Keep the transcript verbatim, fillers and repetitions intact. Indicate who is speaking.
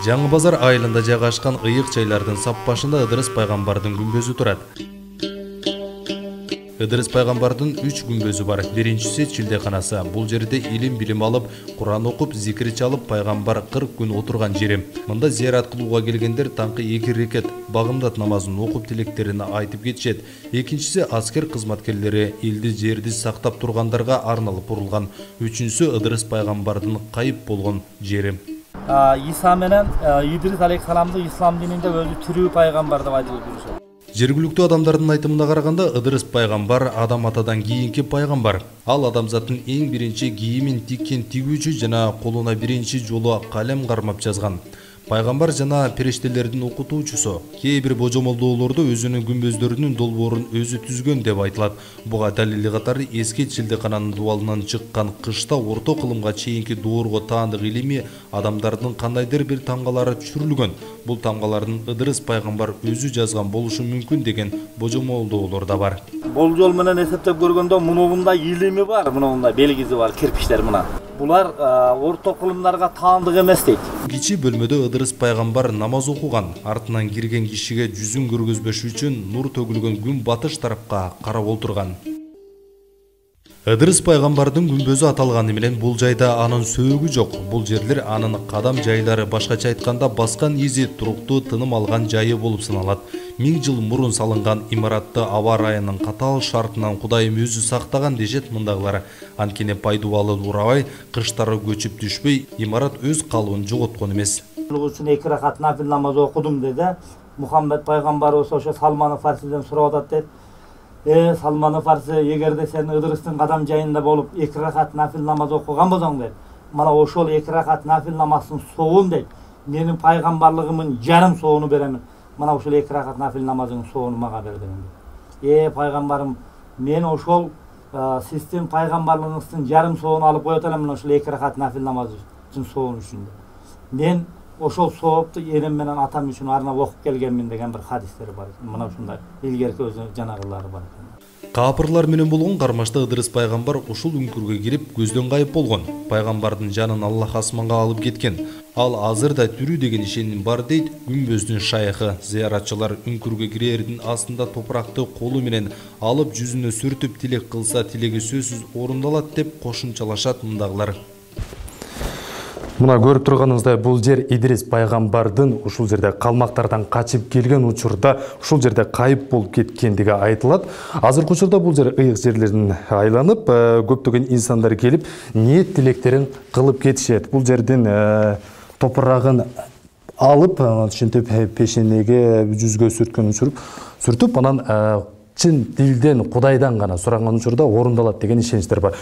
Speaker 1: Жаңы базар айылында жайгашкан ыйык чайлардын сап башында Ыдырыс пайгамбардын күмбөзү турат. Ыдырыс пайгамбардын үч күмбөзү бар. Биринчиси чилдеканасы. Бул жерде илим билим алып, Куран окуп, зикир чалып, пайгамбар кырк күн отурган жери. Мында зиярат кылууга келгендер таңкы эки рекет багымдат намазын окуп тилектерин айтып кетишет. Экинчиси аскер кызматкерлери элди жерди сактап тургандарга арналып курулган. Үчүнчүсү Ыдырыс пайгамбардын кайып болгон жери.
Speaker 2: Иса менен Идрис алейхисаламды ислам дининде өзү тирүү пайгамбар деп айтылып жүрүшөт.
Speaker 1: Жергиликтүү адамдардын айтымына караганда Ыдырыс пайгамбар адам атадан кийинки пайгамбар. Ал адамзаттын эң биринчи кийимин тиккен тигүүчү жана колуна биринчи жолу калем кармап жазган. Пайгамбар жана периштелердин окутуучусу. Кээ бир божомолдоолордо өзүнүн күмбөздөрүнүн долбоорун өзү түзгөн деп айтылат. Буга далили катары эски чилдекананын дубалынан чыккан кышта орто кылымга чейинки доорго таандык илимий адамдардын кандайдыр бир тамгалары түшүрүлгөн. Бул тамгалардын Ыдырыс пайгамбар өзү жазган болушу мүмкүн деген божомолдоолор да бар.
Speaker 2: Болжол менен эсептеп көргөндө мындай илими бар, мындай белгиси бар, кирпиштер мына. Булар орто кылымдарга таандык эмес дейт.
Speaker 1: Кичи бөлмөдө Ыдырыс пайгамбар намаз окуган. Артынан кирген кишиге жүзүн көргөзбөш үчүн нур төгүлгөн күн батыш тарапка карап отурган. Ыдырыс пайгамбардын күмбөзү аталганы менен бул жайда анын сөөгү жок. Бул жерлер анын кадам жайлары, башкача айтканда баскан изи, туруктуу тыным алган жайы болуп саналат. Миң жыл мурун салынган имаратты аба ырайынын катаал шартынан Кудайым өзү сактаган дешет мындагылар. Анткени пайдубалы урабай, кыштары көчүп түшпөй, имарат өз калыбын жоготкон эмес.
Speaker 2: Бул үчүн эки ракат нафил намаз окудум деди. Мухаммед пайгамбарыбыз ошо Салман Фарсиден сурап атат дейт. Э, Салман Фарси, эгерде сен Ыдырыстын кадам жайында болуп эки ракат нафил намаз окуган болсоң дейт. Мана ошол эки ракат нафил намаздын соогун дейт. Менин пайгамбарлыгымдын жарым соогуну беремин. Мана ошол эки ракат нафил намазыңдын соогуну мага бер деген. Э, пайгамбарым, мен ошол сиздин пайгамбарлыгыңыздын жарым соогуну алып коет элем, ошол эки ракат нафил намаздын соогуну үчүн. Мен ошол соопту энем менен атам үчүн арнап окуп келгенмин деген бир хадистер бар. Мына ушундай илгерки өзү жанагылары бар.
Speaker 1: Капырлар менен болгон кармашта Ыдырыс пайгамбар ушул үңкүргө кирип көздөн кайып болгон. Пайгамбардын жанын Аллах асманга алып кеткен. Ал азыр да тирүү деген ишеним бар дейт күмбөздүн шайхы. Зыяратчылар үңкүргө кирердин астында топуракты колу менен алып жүзүнө сүртүп тилек кылса, тилеги сөзсүз орундалат деп кошумчалашат мындагылар.
Speaker 3: Мына көрүп турганыңыздай бул жер Идрис пайгамбардын ушул жерде калмактардан качып келген учурда ушул жерде кайып болуп кеткендиги айтылат. Азыркы учурда бул жер ыйык жерлерин айланып, көптөгөн инсандар келип, ниет тилектерин кылып кетишет. Бул жердин топурагын алып, ушинтип пешенеге, жүзгө сүрткөн учуруп, сүртүп анан чын дилден, Кудайдан гана суранган учурда орундалат деген ишеничтер бар.